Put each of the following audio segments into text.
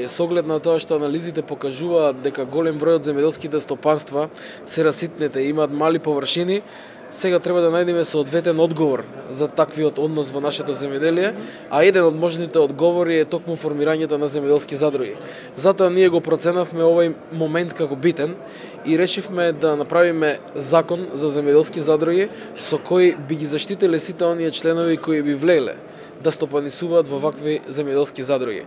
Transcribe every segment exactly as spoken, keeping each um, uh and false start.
со оглед на тоа што анализите покажуваат дека голем број од земјоделските стопанства се раситнете и имаат мали површини, сега треба да најдеме соодветен одговор за таквиот однос во нашето земјоделие, а еден од можните одговори е токму формирањето на земјоделски задруги. Затоа ние го проценавме овој момент како битен и решивме да направиме закон за земјоделски задруги со кој би ги заштителе сите оние членови кои би влеле да стопанисуваат во вакви земјоделски задруги.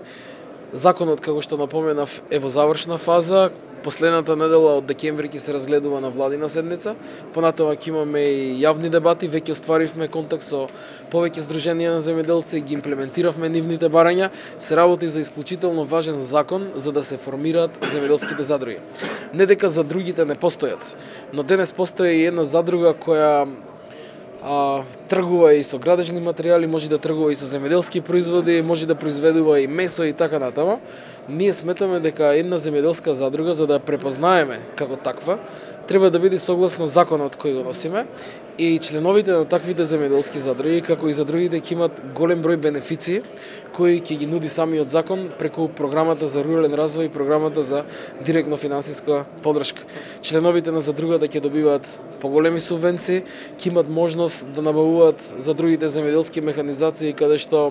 Законот, како што напоменав, е во завршна фаза. Последната недела од декември ќе се разгледува на владина седница. Понатоа ќе имаме и јавни дебати, веќе остваривме контакт со повеќе здруженија на земјоделци и ги имплементиравме нивните барања. Се работи за исклучително важен закон за да се формираат земјоделските задруги. Не дека задрugите не постојат, но денес постои и една задруга која А, тргува и со градежни материјали, може да тргува и со земјоделски производи, може да произведува и месо и така натаму. Ние сметаме дека една земјоделска задруга, за да ја препознаеме како таква, треба да биде согласно законот кој го носиме и членовите на таквите земјоделски задруги, како и задрugите, ќе имат голем број бенефиции кои ќе ги нуди самиот закон преку програмата за рурален развој и програмата за директно финансиска подршка. Членовите на задругата ќе добиваат поголеми субвенции, ќе имат можност да набавуваат за другите земјоделски механизации каде што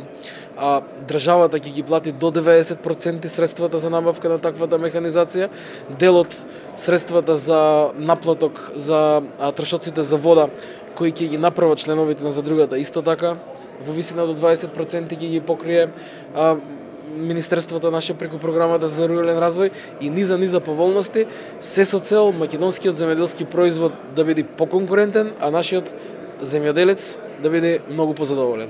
а, државата ќе ги плати до деветдесет проценти средствата за набавка на таквата механизација, делот средствата за наплаток за а, трошоците за вода кои ќе ги направат членовите на задругата исто така во висина до дваесет проценти ќе ги покрие а, Министерството наше преку програмата за рурален развој и низа низа поволности, се со цел македонскиот земјоделски производ да биде поконкурентен, а нашиот земјоделец да биде многу позадоволен.